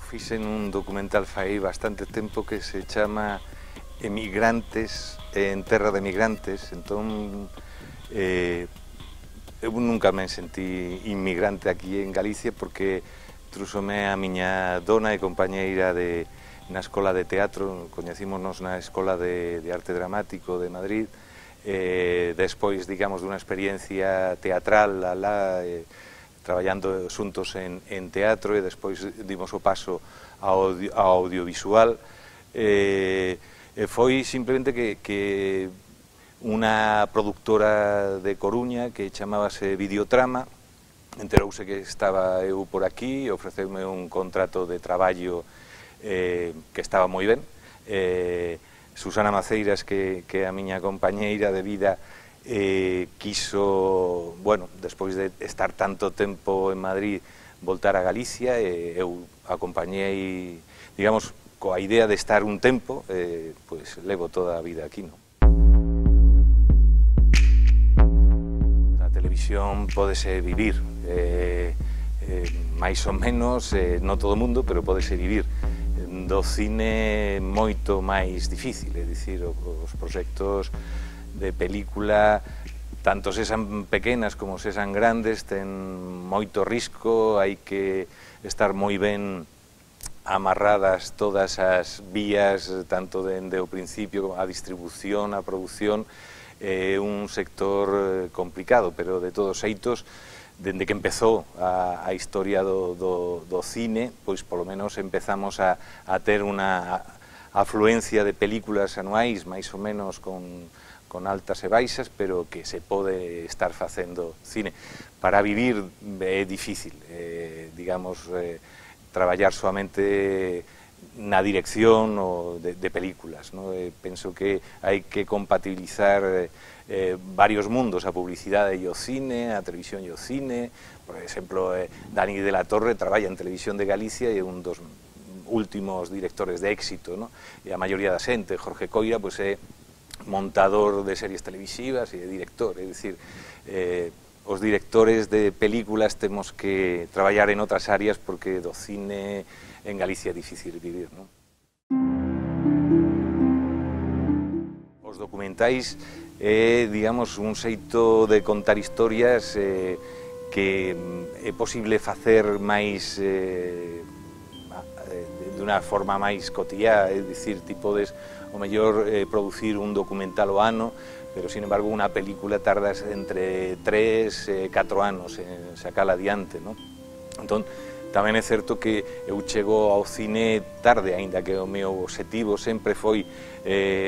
Fixen un documental fai bastante tempo que se chama Emigrantes en terra de migrantes, entón eu nunca me sentí inmigrante aquí en Galicia porque trúxome a miña dona e compañeira na escola de teatro, coñecímonos na escola de arte dramático de Madrid, despois, digamos, dunha experiencia teatral alá, traballando xuntos en teatro e despois dimos o paso ao audiovisual. Foi simplemente que unha productora de Coruña que chamábase Videotrama enterouse que estaba eu por aquí, ofreceume un contrato de traballo que estaba moi ben. Susana Maceiras, que é a miña compañeira de vida, quiso, bueno, despois de estar tanto tempo en Madrid, voltar a Galicia, e eu acompañei, digamos, coa idea de estar un tempo, pois levo toda a vida aquí, non? A televisión pódese vivir, máis ou menos, non todo o mundo, pero pódese vivir. Do cine moito máis difícil, é dicir, os proxectos de película, tanto sesan pequenas como sesan grandes, ten moito risco, hai que estar moi ben amarradas todas as vías, tanto dende o principio a distribución, a produción, é un sector complicado, pero de todos xeitos, dende que empezou a historia do cine, pois polo menos empezamos a ter unha afluencia de películas anuais, máis ou menos con altas e baixas, pero que se pode estar facendo cine. Para vivir é difícil, digamos, traballar solamente na dirección de películas, ¿no? Penso que hai que compatibilizar varios mundos, a publicidade e o cine, a televisión e o cine. Por exemplo, Dani de la Torre traballa en Televisión de Galicia e é un dos últimos directores de éxito, ¿no? E a maioría da xente, Jorge Coira, pois é montador de series televisivas e de director, é dicir, os directores de películas temos que traballar en outras áreas porque do cine en Galicia é difícil vivir, non? Os documentais é, digamos, un xeito de contar historias que é posible facer máis de unha forma máis cotiá, é dicir, ti podes o mellor producir un documental o ano, pero, sin embargo, unha película tardas entre 3 e 4 anos en sacala adiante, non? Entón, tamén é certo que eu chego ao cine tarde, aínda que o meu obxectivo sempre foi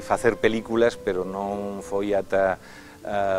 facer películas, pero non foi ata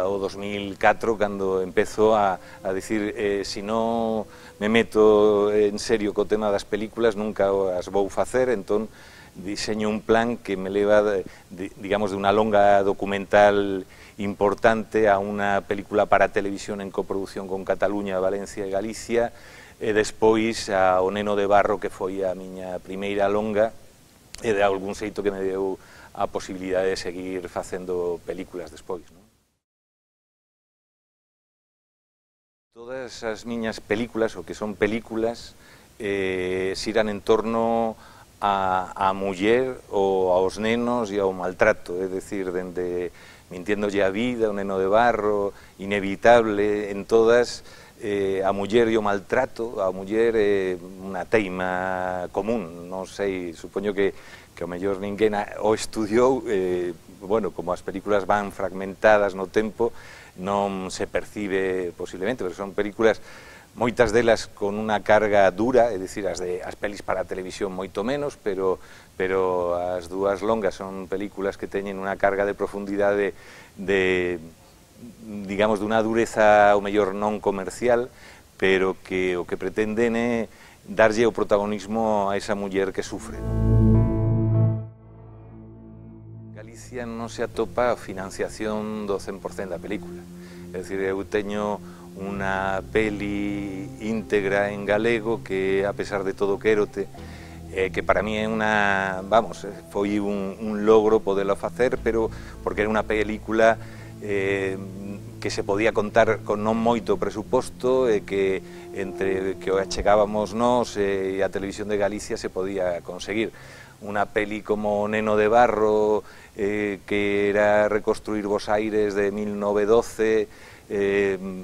o 2004 cando empezo a dicir se non me meto en serio co tema das películas nunca as vou facer, entón diseño un plan que me leva, digamos, de unha longa documental importante a unha película para televisión en coproducción con Cataluña, Valencia e Galicia, e despois ao Neno de Barro, que foi a miña primeira longa, e de algún xeito que me deu a posibilidade de seguir facendo películas despois, non? Todas as miñas películas, o que son películas, xiran en torno a muller ou aos nenos e ao maltrato, é dicir, dende Mintiéndolle a vida, O Neno de Barro, Inevitable, en todas a muller e o maltrato, a muller é unha teima común, non sei, supoño que ao mellor ninguén o estudiou, bueno, como as películas van fragmentadas no tempo, non se percibe posiblemente, pero son películas, moitas delas con unha carga dura, é dicir, as pelis para a televisión moito menos, pero as dúas longas son películas que teñen unha carga de profundidade digamos, dunha dureza ao mellor non comercial, pero que o que pretenden é darlle o protagonismo a esa muller que sufre. Galicia non se atopa a financiación do 100% da película. É dicir, eu teño unha peli íntegra en galego que, a pesar de todo, quérote, que para mí é unha, vamos, foi un logro poderlo facer, pero porque era unha película que se podía contar con non moito presuposto e que entre que o achegábamos nós e a Televisión de Galicia se podía conseguir. Unha peli como Neno de Barro, que era reconstruir Bos Aires de 1912,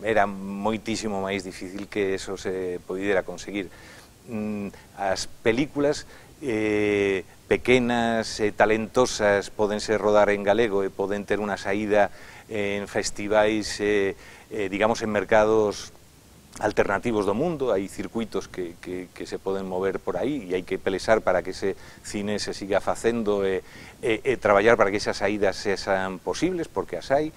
era moitísimo máis difícil que eso se pudera conseguir. As películas pequenas e talentosas podense rodar en galego e poden ter unha saída en festivais, digamos, en mercados alternativos do mundo. Hai circuitos que se poden mover por aí e hai que pelexar para que ese cine se siga facendo e traballar para que esas saídas sexan posibles, porque as hai.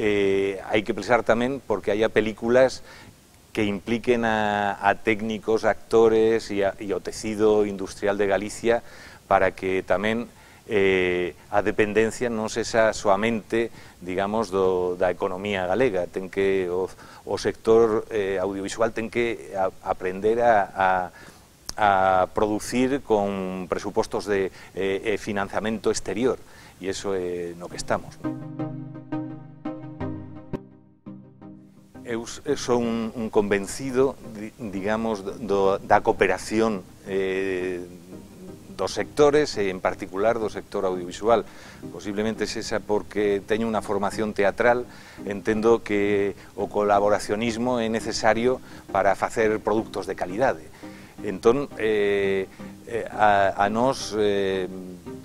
Hai que pelexar tamén porque haya películas que impliquen a técnicos, actores e o tecido industrial de Galicia para que tamén a dependencia non sexa soamente, digamos, da economía galega. Ten que o sector audiovisual ten que aprender a producir con presupostos de financiamento exterior, e iso é no que estamos. Eu sou un convencido, digamos, da cooperación dos sectores e en particular do sector audiovisual. Posiblemente sexa porque teño unha formación teatral, entendo que o colaboracionismo é necesario para facer produtos de calidade. Entón, a nós,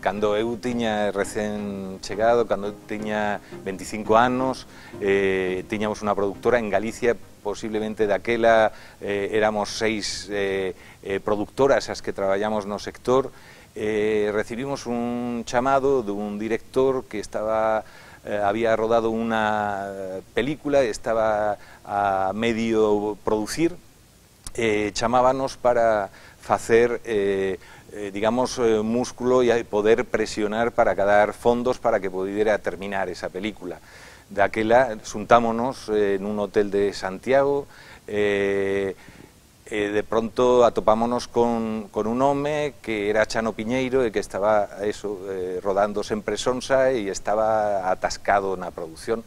cando eu tiña recén chegado, cando eu tiña 25 anos, tiñamos unha productora en Galicia, posiblemente daquela éramos 6 productoras as que traballamos no sector. Recibimos un chamado dun director que había rodado unha película, estaba a medio producir, chamábanos para facer, digamos, músculo e poder presionar para cadar fondos para que pudera terminar esa película. Daquela xuntámonos nun hotel de Santiago, de pronto atopámonos con un home que era Chano Piñeiro e que estaba rodando sempre sonsa e estaba atascado na produción.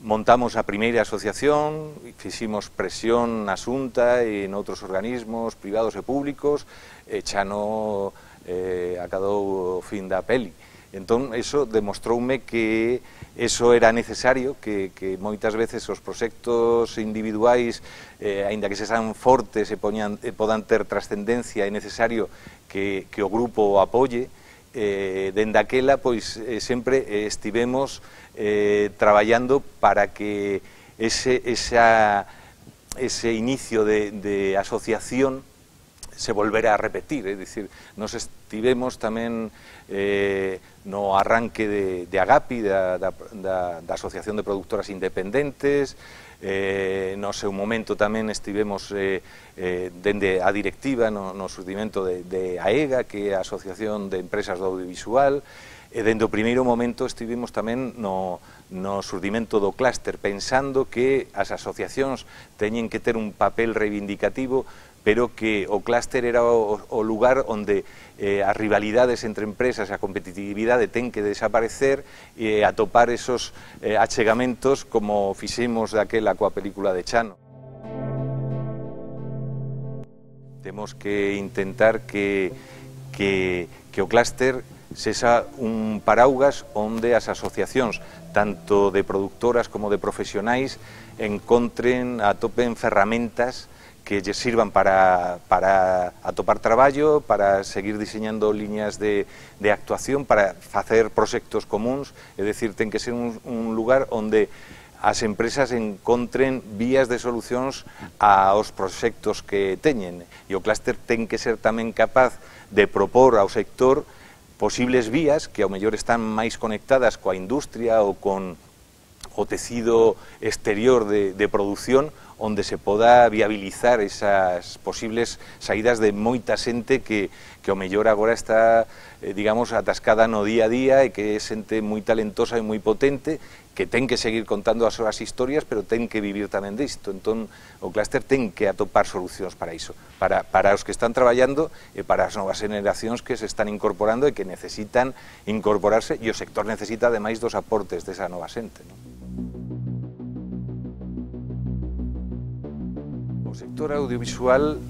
Montamos a primeira asociación, fiximos presión na Xunta e noutros organismos privados e públicos, e Chano acadou o fin da peli. Entón, eso demostroume que eso era necesario, que moitas veces os proxectos individuais, aínda que sexan fortes e podan ter trascendencia, é necesario que o grupo o apoie. Dende aquela, pois, sempre estivemos traballando para que ese inicio de asociación se volvera a repetir, é dicir, nos estivemos tamén no arranque de Agapi, da Asociación de Productoras Independentes, no seu momento tamén estivemos dende a directiva no xurdimento de AEGA, que é a Asociación de Empresas do Audiovisual, e dende o primeiro momento estivemos tamén no xurdimento do clúster, pensando que as asociacións teñen que ter un papel reivindicativo, pero que o clúster era o lugar onde as rivalidades entre empresas e a competitividade ten que desaparecer e atopar esos achegamentos como fixemos daquela coa película de Chano. Temos que intentar que o clúster sexa un paraugas onde as asociacións, tanto de productoras como de profesionais, atopen ferramentas que lle sirvan para atopar traballo, para seguir diseñando liñas de actuación, para facer proxectos comuns, é dicir, ten que ser un lugar onde as empresas encontren vías de solucións aos proxectos que teñen, e o clúster ten que ser tamén capaz de propor ao sector posibles vías que ao mellor están máis conectadas coa industria ou con o tecido exterior de produción onde se poda viabilizar esas posibles saídas de moita xente que o mellor agora está, digamos, atascada no día a día e que é xente moi talentosa e moi potente, que ten que seguir contando as súas historias, pero ten que vivir tamén disto. Entón, o clúster ten que atopar solucións para iso, para os que están traballando e para as novas generacións que se están incorporando e que necesitan incorporarse, e o sector necesita, ademais, dos aportes desa nova xente, non? O sector audiovisual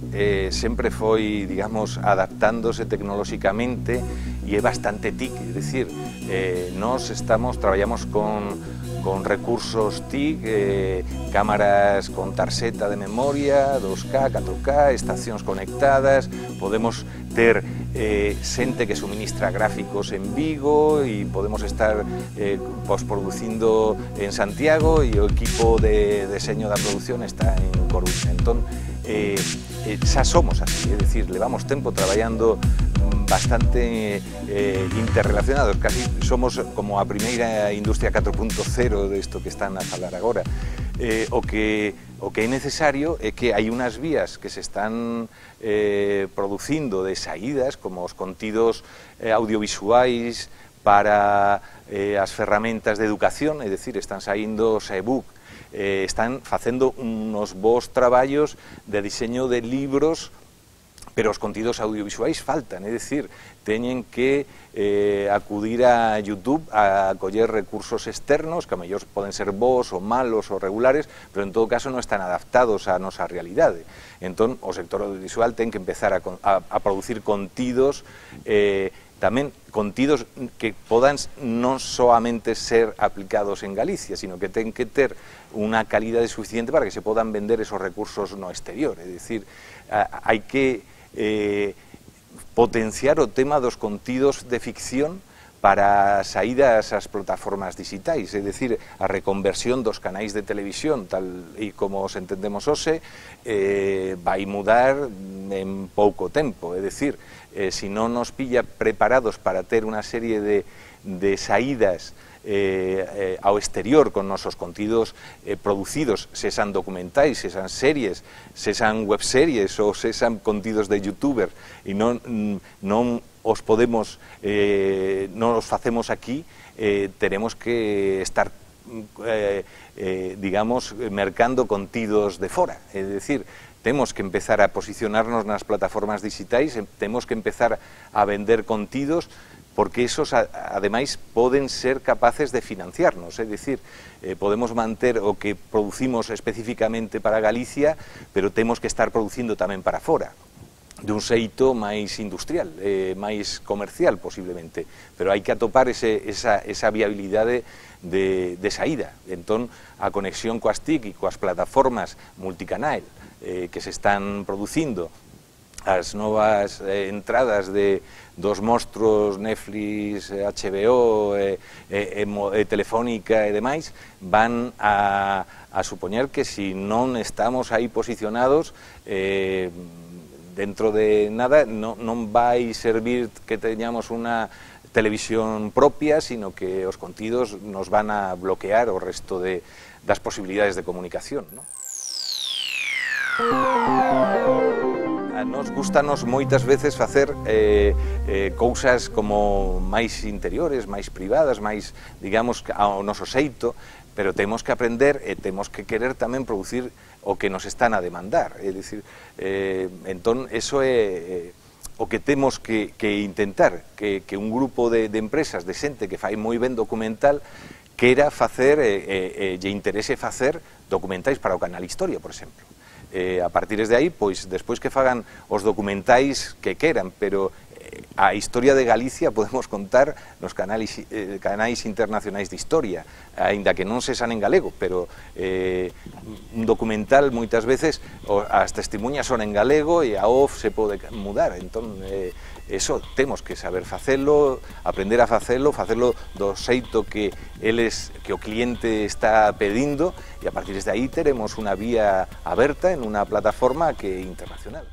sempre foi, digamos, adaptándose tecnolóxicamente e é bastante TIC, é dicir, nós traballamos con recursos TIC, cámaras con tarxeta de memoria, 2K, 4K, estacións conectadas, podemos ter xente que suministra gráficos en Vigo e podemos estar posproducindo en Santiago e o equipo de deseño da produción está en Coruña. Entón, xa somos así, é dicir, levamos tempo traballando bastante interrelacionados, casi somos como a primeira industria 4.0 disto que están a falar agora. O que é necesario é que hai unhas vías que se están producindo de saídas, como os contidos audiovisuais para as ferramentas de educación, é dicir, están saindo os e-book, están facendo unos bons traballos de diseño de libros, pero os contidos audiovisuais faltan, é dicir, teñen que acudir a YouTube a coller recursos externos, que a mellor poden ser bons ou malos ou regulares, pero en todo caso non están adaptados á nosa realidade. Entón, o sector audiovisual ten que empezar a producir contidos, tamén contidos que podan non soamente ser aplicados en Galicia, sino que ten que ter unha calidade suficiente para que se podan vender esos recursos no exterior. É dicir, hai que potenciar o tema dos contidos de ficción para saídas ás plataformas digitais, é dicir, a reconversión dos canais de televisión, tal e como os entendemos hoxe, vai mudar en pouco tempo, é dicir, se non nos pilla preparados para ter unha serie de saídas ao exterior con nosos contidos producidos, sean documentais, sean series, sean webseries ou sean contidos de youtuber e non os podemos, non os facemos aquí, teremos que estar digamos, mercando contidos de fora, é dicir, temos que empezar a posicionarnos nas plataformas digitais, temos que empezar a vender contidos, porque esos, ademais, poden ser capaces de financiarnos, é dicir, podemos manter o que producimos especificamente para Galicia, pero temos que estar producindo tamén para fora, dun xeito máis industrial, máis comercial, posiblemente, pero hai que atopar esa viabilidade de saída. Entón, a conexión coas TIC e coas plataformas multicanal que se están producindo, as novas entradas dos monstruos Netflix, HBO, Telefónica e demais, van a supoñer que se non estamos aí posicionados, dentro de nada non vai servir que teñamos unha televisión propia, sino que os contidos nos van a bloquear o resto das posibilidades de comunicación, non? A nos gustanos moitas veces facer cousas como máis interiores, máis privadas, máis, digamos, ao noso xeito, pero temos que aprender e temos que querer tamén producir o que nos están a demandar, é dicir, entón, eso é o que temos que intentar, que un grupo de empresas, de xente que fai moi ben documental, quera facer e lle interese facer documentais para o canal Historia, por exemplo. A partir de aí, pois, despois que fagan os documentais que queran, pero a historia de Galicia podemos contar nos canais internacionais de historia, aínda que non se san en galego, pero un documental moitas veces as testemunhas son en galego e a off se pode mudar, entón eso temos que saber facelo, aprender a facelo do xeito que o cliente está pedindo, e a partir de aí teremos unha vía aberta en unha plataforma que é internacional.